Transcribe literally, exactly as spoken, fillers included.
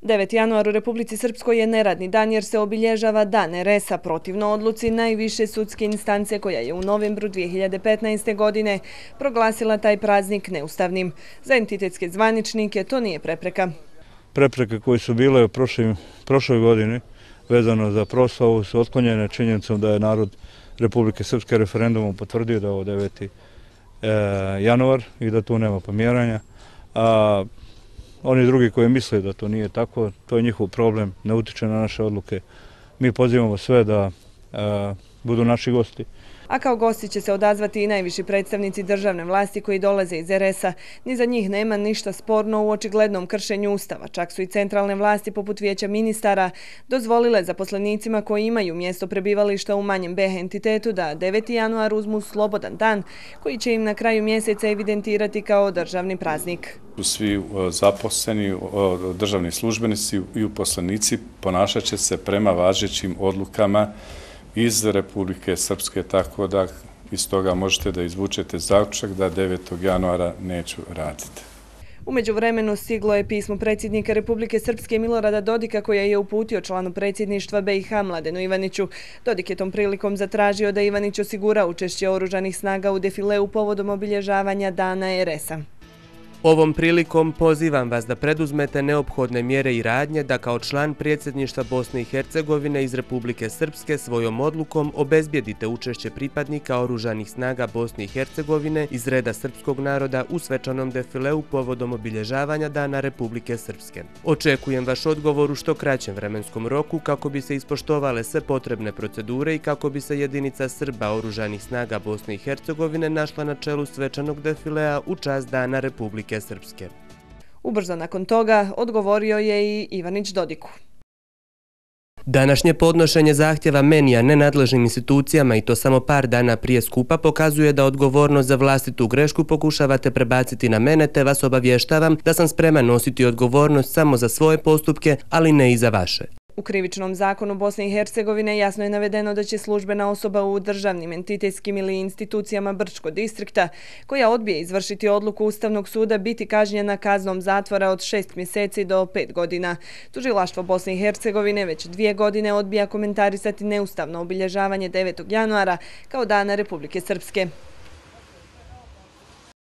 deveti januar u Republici Srpskoj je neradni dan jer se obilježava Dan Eresa protivno odluci najviše sudske instance koja je u novembru dvije hiljade petnaeste. godine proglasila taj praznik neustavnim. Za entitetske zvaničnike to nije prepreka. Prepreke koje su bile u prošloj godini vezano za proslavu su otklonjene činjenicom da je narod Republike Srpske referendumom potvrdio da je ovo deveti januar i da tu nema pomjeranja. A oni drugi koji misle da to nije tako, to je njihov problem, ne utiče na naše odluke. Mi pozivamo sve da budu naši gosti. A kao gosti će se odazvati i najviši predstavnici državne vlasti koji dolaze iz Eresa. Ni za njih nema ništa sporno u očiglednom kršenju Ustava. Čak su i centralne vlasti poput Vijeća ministara dozvolile zaposlenicima koji imaju mjesto prebivališta u manjem B entitetu da deveti januar uzmu slobodan dan koji će im na kraju mjeseca evidentirati kao državni praznik. Svi zaposleni, državni službenici i uposlenici ponašat će se prema važećim odlukama iz Republike Srpske, tako da iz toga možete da izvučete zaključak da devetog januara neću raditi. U međuvremenu stiglo je pismo predsjednika Republike Srpske Milorada Dodika koje je uputio članu predsjedništva B i H Mladenu Ivaniću. Dodik je tom prilikom zatražio da Ivanić osigura učešće oružanih snaga u defileu povodom obilježavanja Dana Eresa. Ovom prilikom pozivam vas da preduzmete neophodne mjere i radnje da kao član predsjedništva Bosne i Hercegovine iz Republike Srpske svojom odlukom obezbijedite učešće pripadnika oružanih snaga Bosne i Hercegovine iz reda srpskog naroda u svečanom defileu povodom obilježavanja Dana Republike Srpske. Očekujem vaš odgovor u što kraćem vremenskom roku kako bi se ispoštovale sve potrebne procedure i kako bi se jedinica Srba oružanih snaga Bosne i Hercegovine našla na čelu svečanog defilea u čast Dana Republike Srpske. Ubrzo nakon toga odgovorio je i Ivanić Dodiku. Današnje podnošenje zahtjeva meni, a nenadležnim institucijama i to samo par dana prije skupa pokazuje da odgovornost za vlastitu grešku pokušavate prebaciti na mene, te vas obavještavam da sam spreman nositi odgovornost samo za svoje postupke, ali ne i za vaše. U krivičnom zakonu Bosne i Hercegovine jasno je navedeno da će službena osoba u državnim, entitetskim ili institucijama Brčkog distrikta koja odbije izvršiti odluku Ustavnog suda biti kažnjena kaznom zatvora od šest mjeseci do pet godina. Tužilaštvo Bosne i Hercegovine već dvije godine odbija komentarisati neustavno obilježavanje devetog januara kao Dana Republike Srpske.